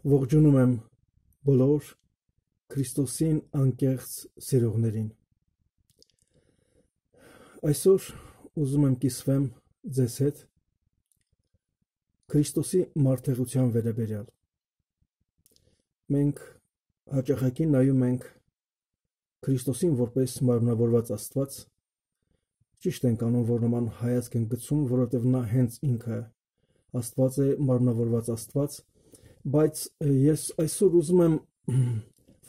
Ողջունում եմ բոլոր Քրիստոսին անկեղծ սիրողներին։ Այսօր ուզում եմ կիսվեմ ձեզ հետ Քրիստոսի մարդեղության վերաբերյալ։ Մենք հաճախակի նայում ենք Քրիստոսին որպես մարմնավորված Աստված, ճիշտ ենք անում, որ նման հայացք ենք գցում, որովհետև նա հենց ինքը Աստված է, մարմնավորված Աստված, բայց ես այսօր ուզում եմ,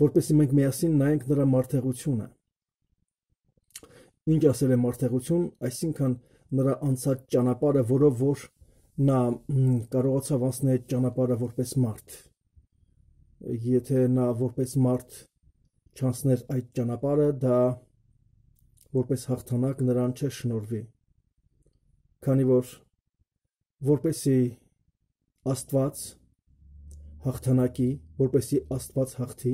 որպեսզի մենք միասին նայենք նրա մարդեղությունը։ Ինչ ասել է մարդեղություն, այսինքն նրա անցած ճանապարհը, որով որ նա կարողացավ անցնել այդ ճանապարհը որպես մարդ։ Եթե նա որպես մարդ չանցներ այդ ճանապարհը, դա որպես հաղթանակ նրան չէր շնորհվի, քանի որ որպեսզի Աստված հաղթանակի, որպեսզի Աստված հաղթի,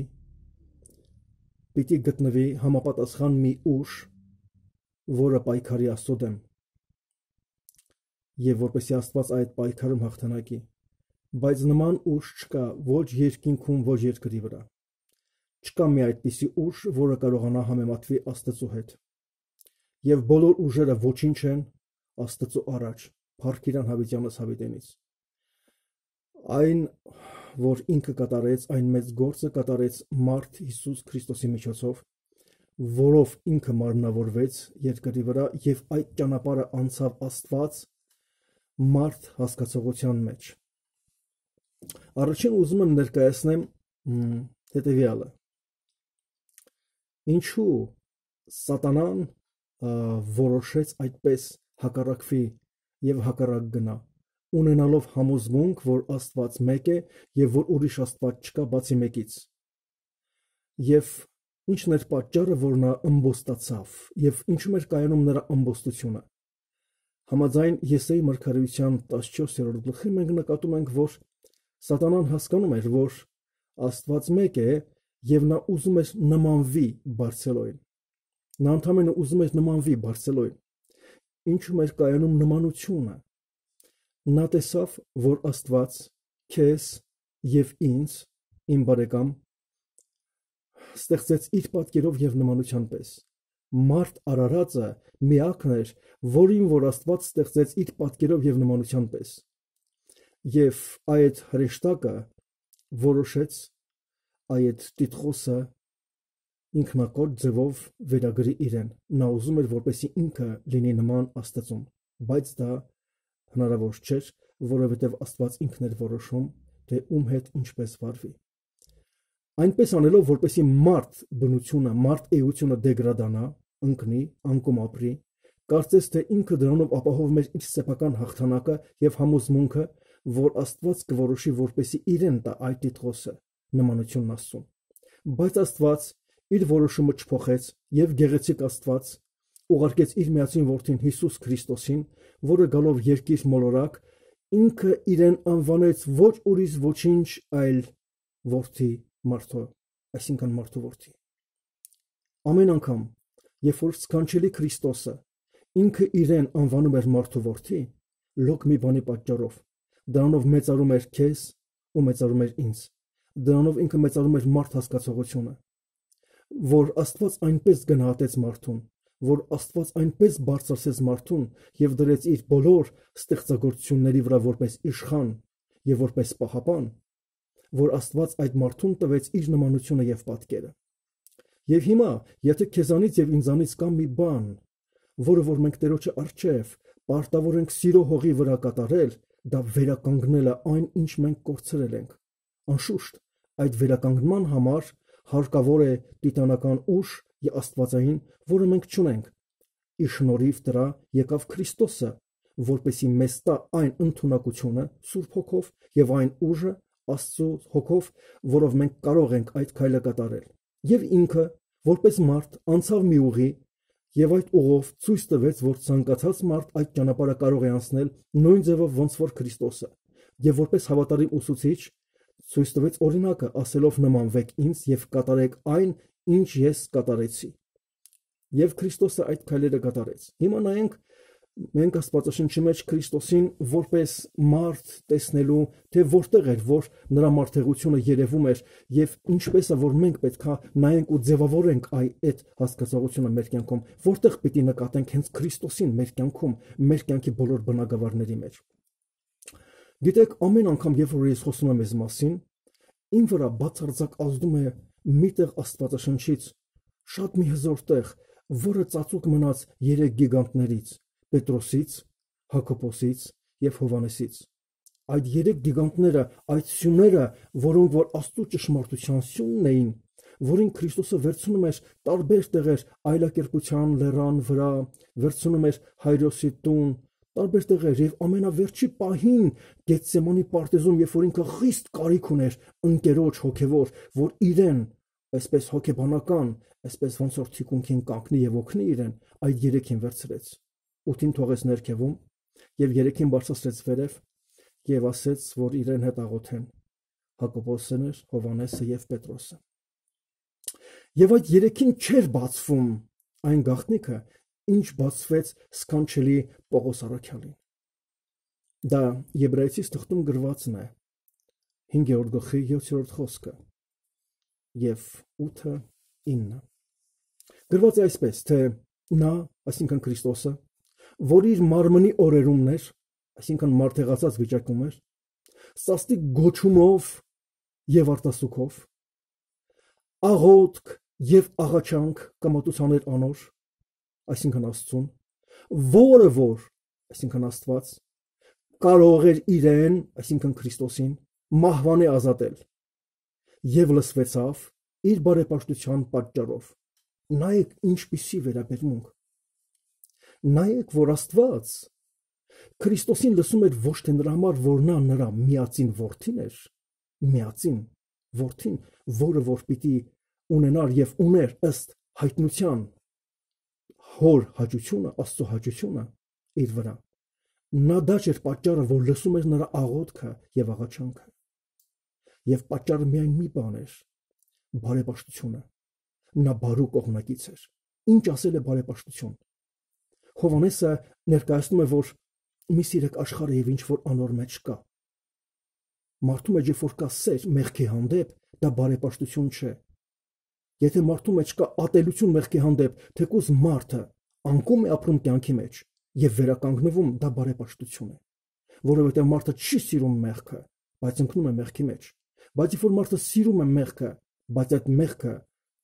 պիտի գտնվի համապատասխան մի ուժ, որը պայքարի Աստծո դեմ, եւ որպեսզի Աստված այդ պայքարում հաղթանակի, բայց նման ուժ չկա ոչ երկինքում, ոչ երկրի վրա։ Չկա մի այդպիսի ուժ, որը կարողանա համեմատվի Աստծո հետ։ Եվ բոլոր ուժերը ոչինչ են Աստծո առաջ, փառք իրան հավիտյանս հավիտենից։ Այն, որ ինքը կատարեց, այն մեծ գործը կատարեց մարդ Հիսուս Քրիստոսի միջոցով, որով ինքը մարմնավորվեց երկրի վրա եւ այդ ճանապարհը անցավ Աստված մարդ հասկացողության մեջ։ Առաջին ուզում եմ ներկայացնեմ հետեւյալը։ Ինչու Սատանան որոշեց այդպես հակառակվի եւ հակառակ գնա, ունենալով համոզմունք, որ Աստված մեկ է եւ որ ուրիշ Աստված չկա բացի մեկից։ Եւ ինչն էր պատճառը, որ նա ըմբոստացավ եւ ինչու էր կայանում նրա ըմբոստությունը։ Համաձայն Եսայի մարգարեության 14-րդ գլխի մենք նկատում ենք, որ Սատանան հասկանում էր, որ Աստված մեկ է եւ նա ուզում էր նմանվի Բարձելոյին։ Նա ընդհանրապես ուզում էր նմանվի Բարձելոյին։ Ինչու էր կայանում նմանությունը։ Նա տեսավ, որ Աստված քեզ եւ ինձ, իմ բարեկամ, ստեղծեց իր պատկերով եւ նմանության պես։ Մարդ արարածը միակն էր, որին որ Աստված ստեղծեց իր պատկերով եւ նմանության պես։ Եվ այդ հրեշտակը որոշեց այդ Տիտղոսը ինքնակոտ ձևով վերագրի իրեն։ Նա ուզում էր, որպեսզի ինքը լինի նման Աստծուն, բայց դա հնարավոր չէր, որովհետև Աստված ինքն էր որոշում, թե ում հետ ինչպես վարվի։ Այնպես անելով, որպեսզի մարդ բնությունը, մարդ էությունը դեգրադանա, ընկնի, անկում ապրի, կարծես թե ինքը դրանով ապահովում էր իր սեփական հաղթանակը եւ համոզմունքը, որ Աստված կորոշի, որպեսզի իրեն տա այդ Տիտղոսը, նմանությունն Աստծուն։ Բայց Աստված իր որոշումը չփոխեց եւ գեղեցիկ Աստված ուղարկեց իր միածին որդին Հիսուս Քրիստոսին, որը գալով երկիր մոլորակ, ինքը իրեն անվանեց ոչ ուրիշ ոչինչ, այլ որդի մարդու, այսինքն մարդու որդի։ Ամեն անգամ, երբ որ սքանչելի Քրիստոսը ինքը իրեն անվանում էր մարդու որդի, լոկ մի բանի պատճառով, դրանով մեծարում էր քեզ ու մեծարում էր ինձ, դրանով ինքը մեծարում էր մարդ հասկացողությունը, որ Աստված այնպես գնահատեց մարդուն, որ Աստված այնպես բարձրացրեց մարդուն եւ դրեց իր բոլոր ստեղծագործությունների վրա որպես իշխան եւ որպես պահապան, որ Աստված այդ մարդուն տվեց իր նմանությունը եւ պատկերը։ Եվ հիմա, եթե քեզանից եւ ինձանից կա մի բան, որը որ մենք Տերոջը առջև պարտավոր ենք սիրո հողի վրա կատարել, դա վերականգնելը այն, ինչ մենք կորցրել ենք։ Անշուշտ, այդ վերականգնման համար հարկավոր է տիտանական ուժ եւ աստվածային, որը մենք չունենք։ Իր շնորհիվ դրա եկավ Քրիստոսը, որպեսի մեզ տա այն ընդունակությունը Սուրբ Հոգով եւ այն ուժը Աստծո Հոգով, որով մենք կարող ենք այդ քայլը կատարել։ Եվ ինքը, որպես մարդ, անցավ մի ուղի եւ այդ ուղով ցույց տվեց, որ ցանկացած մարդ այդ ճանապարհը կարող է անցնել նույն ձևով, ոնց որ Քրիստոսը, եւ որպես հավատարիմ ուսուցիչ ցույց տվեց օրինակը, ասելով նմանվեք ինձ եւ կատարեք այն, ինչ ես կատարեցի։ Եվ Քրիստոսը այդ քայլերը կատարեց։ Հիմա նայենք Մենք Աստվածաշնչի մեջ Քրիստոսին որպես մարդ տեսնելու, թե որտեղ էր, որ նրա մարդեղությունը երևում էր, եւ ինչպես է, որ մենք պետքա նայենք ու ձևավորենք այդ հասկացողությունը մեր կյանքում, որտեղ պիտի նկատենք հենց Քրիստոսին մեր կյանքում, մեր կյանքի բոլոր բնագավառների մեջ։ Գիտեք, ամեն անգամ, երբ որ ես խոսում եմ այս մասին, իմ վրա բացարձակ ազդում է միտեղ Աստվածաշնչից շատ մի հզոր տեղ, որը ծածուկ մնաց 3 գիգանտներից՝ Պետրոսից, Հակոբոսից եւ Հովանեսից։ Այդ 3 գիգանտները, այդ սյուները, որոնք որ Աստծո ճշմարտության սյունն էին, որին Քրիստոսը վերցնում էր տարբեր տեղեր այլակերպության լեռան վրա, վերցնում էր Հայրոսի տուն, տարբեր տեղեր եւ ամենավերջի պահին Գեթսեմանի պարտեզում, երբ որ ինքը խիստ կարիք ուներ ընկերոջ հոգեվոր, որ իրեն այսպես հոգեբանական, այսպես ոնց որ թիկունքին կանգնի եւ օգնի իրեն, այդ 3-ին վերցրեց։ 8-ին թողեց ներքևում եւ 3-ին բարձրացրեց վերև եւ ասեց, որ իրեն հետ աղոթեն Հակոբոսն էր, Հովանեսը եւ Պետրոսը։ Եվ այդ 3-ին չէր բացվում այն գաղտնիքը, ինչ բացվեց սքանչելի Պողոս առաքյալին։ Դա Եբրայեցիս թղթում գրվածն է 5-րդ գլխի 7-րդ խոսքը եւ 8-9։ Գրված է այսպես, թե նա, այսինքն Քրիստոսը, որ իր մարմնի օրերումն էր, այսինքն մարդեղացած վիճակում էր, սաստիկ գոչումով եւ արտասուքով, աղոթք եւ աղաչանք կամատության էր անոր, այսինքն Աստծուն, որը որ, այսինքն Աստված, կարող էր իրեն, այսինքն Քրիստոսին, մահվանի ազատել, եւ լսվեցավ իր բարեպաշտության պատճառով։ Նայեք ինչպիսի վերաբերմունք։ Նայեք, որ Աստված Քրիստոսին լսում էր ոչ թե նրա համար, որ նա նրա միածին որդին էր, միածին որդին, որը որ պիտի ունենար եւ ուներ ըստ հայտնության հոր հաճությունը, Աստծո հաճությունը իր վրա։ Նա դա չէր պատճառը, որ լսում էր նրա աղոթքը եւ աղաչանքը։ Եվ պատճառը միայն մի բան էր՝ բարեպաշտությունը։ Նա բարու կողմնակից էր։ Ինչ ասել է բարեպաշտություն։ Հովանեսը ներկայացնում է, որ մի սիրեք աշխարհը եւ ինչ որ անոր մեջ կա։ Մարդու մեջ երբ որ կա սեր մեղքի հանդեպ, դա բարեպաշտություն չէ։ Եթե մարդու մեջ կա ատելություն մեղքի հանդեպ, թեկուզ մարդը անկում է ապրում կյանքի մեջ եւ վերականգնվում, դա բարեպաշտություն է։ Որովհետեւ մարդը չի սիրում մեղքը, բայց ընկնում է մեղքի մեջ։ Բայց երբ որ մարդը սիրում է մեղքը, բայց այդ մեղքը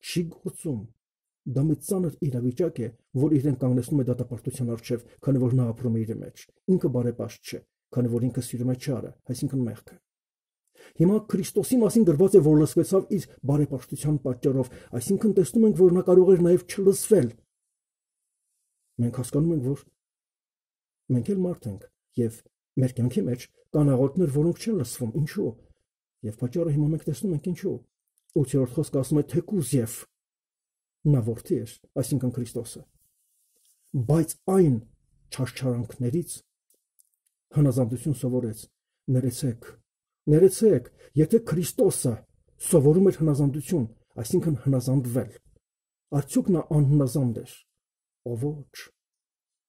չի գործում, դա մի ծանր իրավիճակ է, որ իրեն կանգնեցնում է դատապարտության առջև, քանի որ նա ապրում է իր մեջ։ Ինքը բարեպաշտ չէ, քանի որ ինքը սիրում է չարը, այսինքն մեղքը։ Հիմա Քրիստոսի մասին գրված է, որ լսվեցավ իր բարեպաշտության պատճառով, այսինքն տեսնում ենք, որ նա կարող էր նաև չլսվել։ Մենք հասկանում ենք, որ մենք էլ մարդ ենք, եւ մեր կյանքի մեջ կան աղոթքներ, որոնք չեն լսվում։ Ինչու՞։ Եվ պատճառը հիմա մենք տեսնում ենք ինչու։ 8-րդ խոսքը ասում է թեկուզ եւ նա որդի էր, այսինքն Քրիստոսը։ Բայց այն չարչարանքներից հնազանդություն սովորեց։ Ներեցեք, եթե Քրիստոսը սովորում էր հնազանդություն, այսինքն հնազանդվել, արդյոք նա անհնազանդ էր։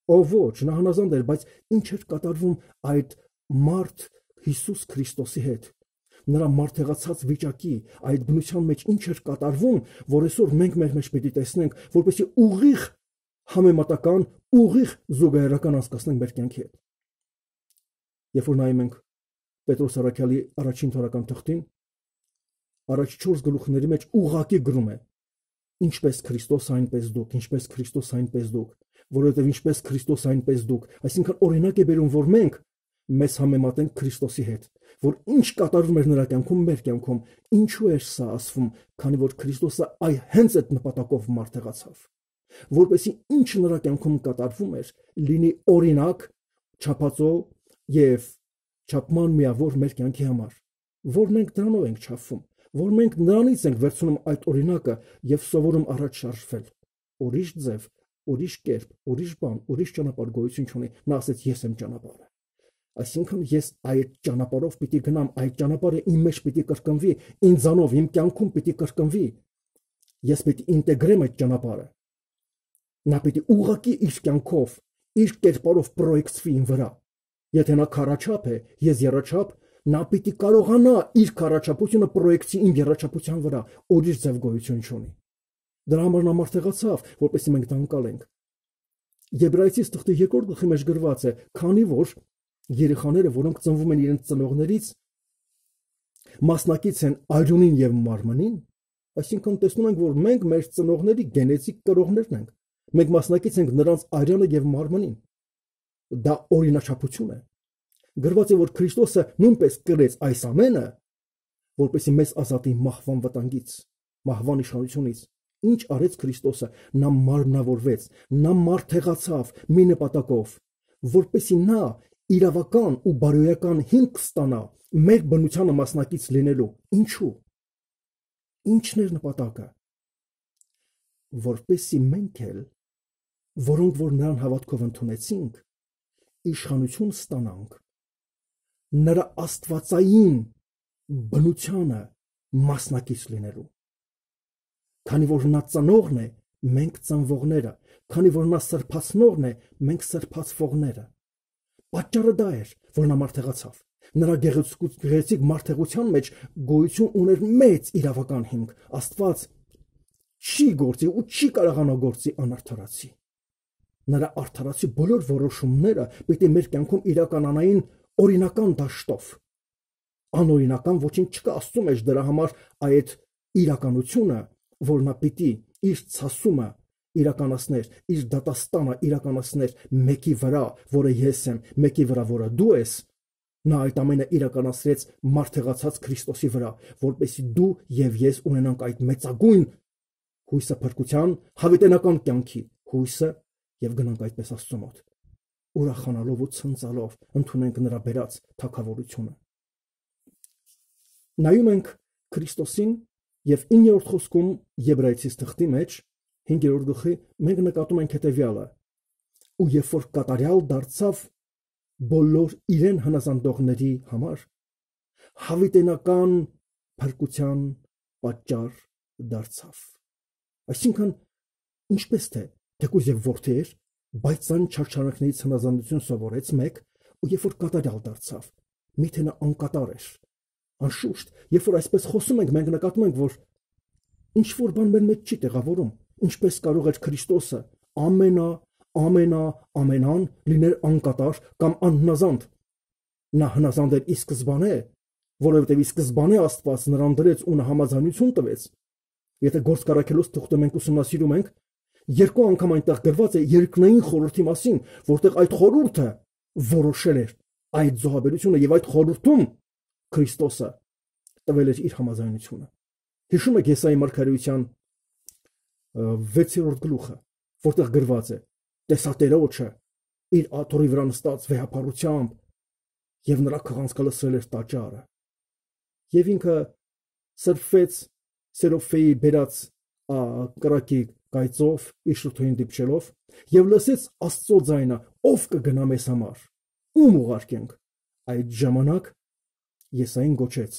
Ոչ, նա հնազանդ էր, բայց ինչ էր կատարվում այդ մարդ Հիսուս Քրիստոսի հետ։ Նրա մարդեղացած վիճակի այդ բնության մեջ ինչ էր կատարվում, որ այսօր մենք մեր մեջ պետք է տեսնենք, որպեսզի ուղիղ համեմատական, ուղիղ զուգահեռական անցկացնենք մեր կյանքի հետ։ Երբ որ նայում ենք Պետրոս առաքյալի առաջին թողական թղթին, առաջ 4 գլուխների մեջ ուղղակի գրում է. ինչպես Քրիստոս այնպես դուք, ինչպես Քրիստոս այնպես դուք, որովհետև ինչպես Քրիստոս այնպես դուք, այսինքն օրինակ է բերում, որ մենք մեզ համեմատենք Քրիստոսի հետ, որ ինչ կատարվում էր նրա կյանքում, մեր կյանքում, ինչու էր սա ասվում, քանի որ Քրիստոսը հենց այդ նպատակով մարդեղացավ, որպեսզի ինչ նրա կյանքում կատարվում էր, լինի օրինակ, չափածո եւ չափման միավոր մեր կյանքի համար, որ մենք դրանով ենք չափվում, որ մենք նրանից ենք վերցնում այդ օրինակը եւ սովորում առաջ շարժվել։ Ուրիշ ձև, ուրիշ կերպ, ուրիշ բան, ուրիշ ճանապարհ գոյություն չունի։ Նա ասեց ես եմ ճանապարհը։ Այսինքն ես այդ ճանապարհով պիտի գնամ, այդ ճանապարհը իմ մեջ պիտի կրկնվի, ինձանով, իմ կյանքում պիտի կրկնվի։ Ես պիտի ինտեգրեմ այդ ճանապարհը։ Նա պիտի ուղղակի իր կյանքով, իր կերպարով պրոյեկցվի իմ վրա։ Եթե նա քառաչափ է, ես եռաչափ, նա պիտի կարողանա իր քառաչափությունը պրոյեկցի իմ եռաչափության վրա, ուրիշ ձև գոյություն չունի։ Դրա համար նա մարդեղացավ, որպեսզի մենք դա անցալենք։ Եբրայեցիս թղթի 2 գլխի մեջ գրված է, քանի որ երեխաները, որոնք ծնվում են իրենց ծնողներից, մասնակից են արյունին եւ մարմնին, այսինքն տեսնում ենք, որ մենք մեր ծնողների գենետիկ կրողներն ենք։ Մենք մասնակից ենք նրանց արյանը եւ մարմնին։ Դա օրինաչափություն է։ Գրված է, որ Քրիստոսը նույնպես կրեց այս ամենը, որպեսզի մեզ ազատի մահվան վտանգից, մահվան իշխանությունից։ Ինչ արեց Քրիստոսը, նա մարմնավորվեց, նա մարդեղացավ մի նպատակով, որպեսզի նա իրավական ու բարոյական հիմք ստանա մեր բնությանը մասնակից լինելու։ Ինչու։ Ինչն էր նպատակը։ Որպեսզի մենք էլ, որոնք որ նրան հավատքով ընդունեցինք, իշխանություն ստանանք նրա աստվածային բնությանը մասնակից լինելու։ Քանի որ նա ծնողն է, մենք ծնվողները, քանի որ նա սրբացնողն է, մենք սրբացվողները։ Պատճառը դա էր, որ նա մարդեղացավ։ Նրա գեղեցիկ մարդեղության մեջ գոյություն ուներ մեծ իրավական հիմք։ Աստված չի գործի ու չի կարողանա գործի անարդարացի։ Նրա արդարացի բոլոր որոշումները պիտի մեր կյանքում իրականանային օրինական դաշտով։ Անօրինական ոչինչ չկա Աստծո մեջ, դրա համար այդ իրականությունը, որ նա պիտի իր ցասումը իրականացներ, իր դատաստանը իրականացներ մեկի վրա, որը ես եմ, մեկի վրա, որը դու ես, նա այդ ամենը իրականացրեց մարդեղացած Քրիստոսի վրա, որպեսզի դու եւ ես ունենանք այդ մեծագույն հույսը փրկության, հավիտենական կյանքի հույսը եւ գնանք այդպես Աստծո մոտ, ուրախանալով ու ցնծալով ընդունենք նրա բերած թագավորությունը։ Նայում ենք Քրիստոսին եւ 9-րդ խոսքում Եբրայեցիս թղթի մեջ 5-րդ գլխի մենք նկատում ենք հետեւյալը. ու երբ որ կատարյալ դարձավ բոլոր իրեն հնազանդողների համար, հավիտենական փրկության պատճառ դարձավ։ Այսինքն, ինչպես թե թեկուզ եւ որդի էր, բայց այն չարչարանքներից հնազանդություն սովորեց մեկ, ու երբ որ կատարյալ դարձավ, միթե նա անկատար էր։ Անշուշտ, երբ որ այսպես խոսում ենք, մենք նկատում ենք, որ ինչ որ բան մեր մեջ չի տեղավորում, ինչպես կարող էր Քրիստոսը ամենան լիներ անկատար կամ անհնազանդ։ Նա հնազանդ էր ի սկզբանե, որովհետև ի սկզբանե Աստված նրան դրեց ու նա համաձայնություն տվեց։ Եթե Գործք առաքելոց թղթը մենք ուսումնասիրում ենք, 2 անգամ այնտեղ գրված է երկնային խորհրդի մասին, որտեղ այդ խորհուրդը որոշել էր այդ զոհաբերությունը եւ այդ խորհրդում Քրիստոսը տվել էր իր համաձայնությունը։ Հիշում եք Եսայի մարգարեության 6-րդ գլուխը, որտեղ գրված է. Տեսատերոջը իր աթոռի վրա նստած վեհապարությամբ եւ նրա քղանցքը լսել էր տաճարը։ Եվ ինքը սրբվեց Սերոֆեի բերած կրակի կայծով իր շուրթին դիպչելով եւ լսեց Աստծո ձայնը. ով կգնա մեզ համար, ում ուղարկենք։ Այդ ժամանակ Եսային գոչեց.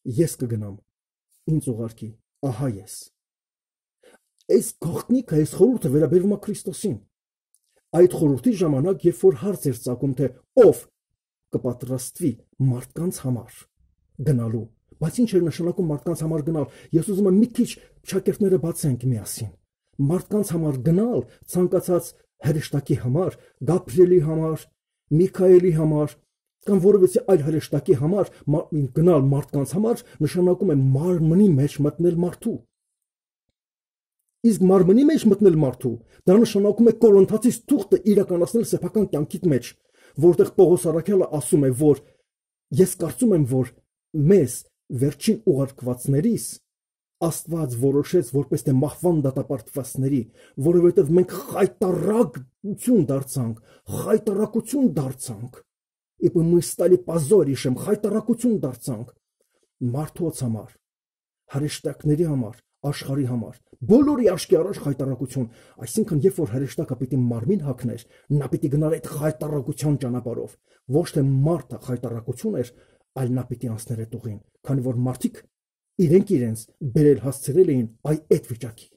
ես կգնամ, ինձ ուղարկի, ահա ես։ Այս գաղտնիքը, այս խորհուրդը վերաբերում է Քրիստոսին։ Այդ խորհրդի ժամանակ, երբ որ հարց էր ծագում, թե ով կպատրաստվի մարդկանց համար գնալու, բայց ինչ էր նշանակում մարդկանց համար գնալ, ես ուզում եմ մի քիչ շակերտները բացենք միասին։ Մարդկանց համար գնալ ցանկացած հրեշտակի համար, Գաբրիելի համար, Միքայելի համար կամ որևէ այլ հրեշտակի համար գնալ մարդկանց համար նշանակում է մարմնի մեջ մտնել մարդու։ Իսկ մարմնի մեջ մտնել մարդու, դա նշանակում է Կորինթացիս թուղթը իրականացնել սեփական կյանքիդ մեջ, որտեղ Պողոս առաքյալը ասում է, որ ես կարծում եմ, որ մեզ վերջին ուղարկվածներիս Աստված որոշեց որպես թե մահվան դատապարտվածների, որովհետև մենք խայտարակություն դարձանք, իբր мы стали позорищем, խայտարակություն դարձանք մարդոց համար, հրեշտակների համար, աշխարհի համար, բոլորի աչքի առաջ խայտարակություն, այսինքն երբ որ հրեշտակը պիտի մարմին հագներ, նա պիտի գնար այդ խայտարակության ճանապարհով, ոչ թե մարդը խայտարակություն էր, այլ նա պիտի անցներ այդ ուղին, քանի որ մարդիկ իրենք իրենց բերել հասցրել էին այդ վիճակի։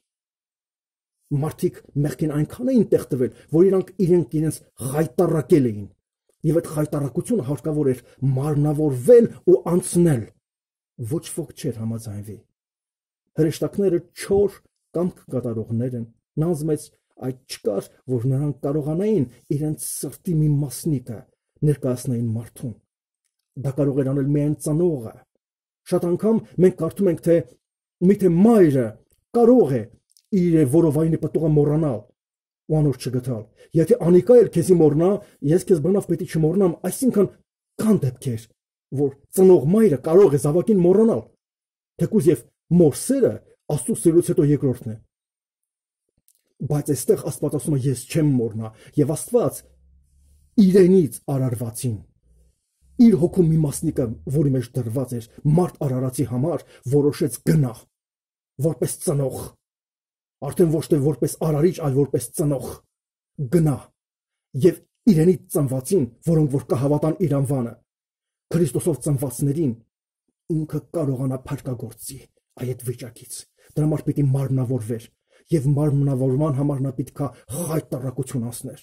Մարդիկ մեղքին այնքան էին տեղ տվել, որ իրենք իրենց խայտառակել էին։ Եվ այդ խայտառակությունը հարկավոր էր մարմնավորվել ու անցնել։ Ոչ ոք չէր համաձայնվի։ Հրեշտակները չոր կամք կատարողներ են, նազմեց այդ չկար, որ նրանք կարողանային իրենց սրտի մի մասնիկը ներկայացնեին մարդուն։ Դա կարող էր անել միայն ծնողը։ Շատ անգամ մենք կարդում ենք, թե միթե մայրը կարող է իր որովայնի պտուղը մոռանալ ու անոր չգտալ։ Եթե անիկա էլ քեզի մոռնա, ես քեզ բնավ պետք է չմոռնամ, այսինքն կան դեպքեր, որ ծնող մայրը կարող է զավակին մոռանալ, թեկուզ եւ մոր սերը Աստծո սերուց հետո երկրորդն է։ Բայց այստեղ Աստված ասում է ես չեմ մոռնա, եւ Աստված իրենից արարվածին իր հոգու մի մասնիկը, որի մեջ դրված էր մարդ արարածի համար, որոշեց գնա որպես ծնող, արդեն ոչ թե որպես արարիչ, այլ որպես ծնող գնա եւ իրենից ծնվածին, որոնք որ կհավատան իր անվանը, Քրիստոսով ծնվածներին ինքը կարողանա փրկagorցի այդ վիճակից։ Դրա համար պիտի մարմնավորվեր եւ մարմնավորման համար նա պետք է խայտառակություն անցներ։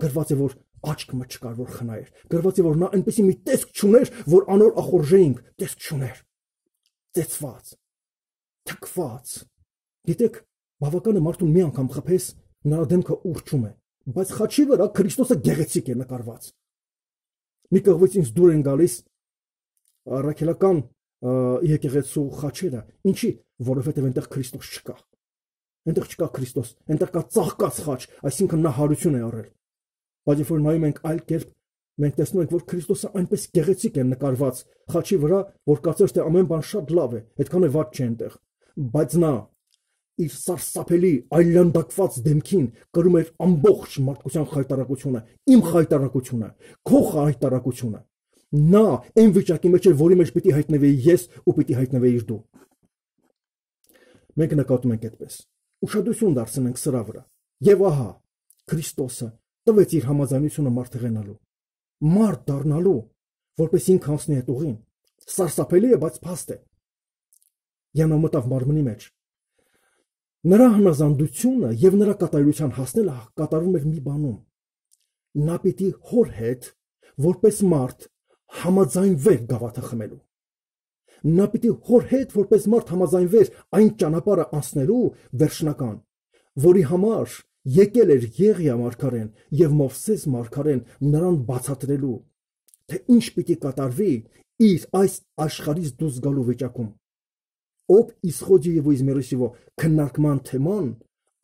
Գրված է, որ աչքը չկար, որ խնայեր։ Գրված է, որ նա այնպեսի մի տեսք չուներ, որ անոր ախորժեինք, տեսք չուներ։ Ծեծված, թքված։ Գիտեք, բավական է մարդուն մի անգամ խփես, նրա դեմքը ուռչում է, բայց խաչի վրա Քրիստոսը գեղեցիկ է նկարված։ Մի կողմից ինձ դուր են գալիս առաքելական եկեղեցու խաչերը, ինչի, որովհետև այնտեղ Քրիստոս չկա։ Այնտեղ չկա Քրիստոս, այնտեղ կա ծաղկած խաչ, այսինքն նա հարություն է առել։ Բայց երբ որ նայում ենք այլ կերպ, մենք տեսնում ենք, որ Քրիստոսը այնպես գեղեցիկ է նկարված խաչի վրա, որ կարծես թե ամեն բան շատ լավ է, այդքան է վատ չէ այնտեղ։ Բայց նա իր սարսափելի այլանդակված դեմքին կրում էր ամբողջ մարդկության խայտառակությունը, իմ խայտառակությունը, քո խայտառակությունը։ Նա այն վիճակի մեջ էր, որի մեջ պիտի հայտնվեի ես ու պիտի հայտնվեիր դու։ Մենք նկատում ենք այդպես։ Ուշադրություն դարձնենք սրա վրա։ Եվ ահա Քրիստոսը տվեց իր համաձայնությունը մարդեղենալու, մարդ դառնալու, որպես ինքը անցնի այդ ուղին։ Սարսափելի է, բայց փաստ է։ Եվ նա մտավ մարմնի մեջ։ Նրա հնազանդությունը եւ նրա կատարության հասնելը կատարվում էր մի բանում։ Նա պիտի հոր հետ, որպես մարդ, համաձայնվեր գավաթը խմելու։ Նա պիտի հոր հետ, որպես մարդ, համաձայնվեր այն ճանապարհը անցնելու վերջնական, որի համար եկել էր Եղիա մարգարեն եւ Մովսես մարգարեն նրան բացատրելու, թե ինչ պիտի կատարվի իր այս աշխարհից դուրս գալու վիճակում։ Об исходе его из всего քննարկման թեման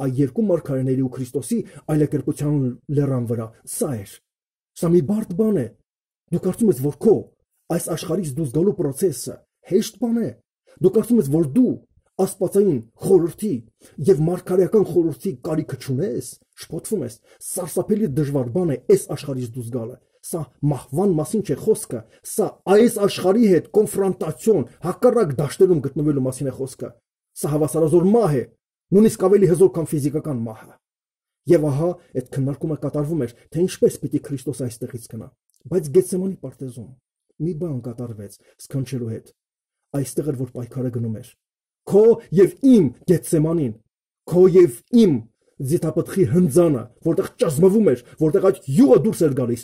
այ երկու մարգարեների ու Քրիստոսի այլակերպության լեռան վրա սա էր։ Սա մի բարդ բան է։ Դու կարծում ես, որ քո այս աշխարհից դուրս գալու process-ը հեշտ բան է։ Դու կարծում ես, որ դու աստվածային խորհրդի եւ մարգարեական խորհրդի կարիքը չունես, շփոթվում ես։ Սարսափելի դժվար բան է այս աշխարհից դուրս գալը։ Սա մահվան մասին չէ խոսքը, սա այս աշխարհի հետ կոնֆրոնտացիոն, հակառակ դաշտերում գտնվելու մասին է խոսքը։ Սա հավասարազոր մահ է, նույնիսկ ավելի հզոր, քան ֆիզիկական մահը։ Եվ ահա այդ քննարկումը կատարվում էր, թե ինչպես պիտի Քրիստոս այստեղից գնա։ Բայց Գեթսեմանի պարտեզում մի բան կատարվեց սքանչելու հետ։ Այստեղ էր, որ պայքարը գնում էր։ Քո եւ իմ Գեթսեմանին, քո եւ իմ ձիթապտղի հնձանը, որտեղ ճազմվում էր, որտեղ այդ յուղը դուրս էր գալիս,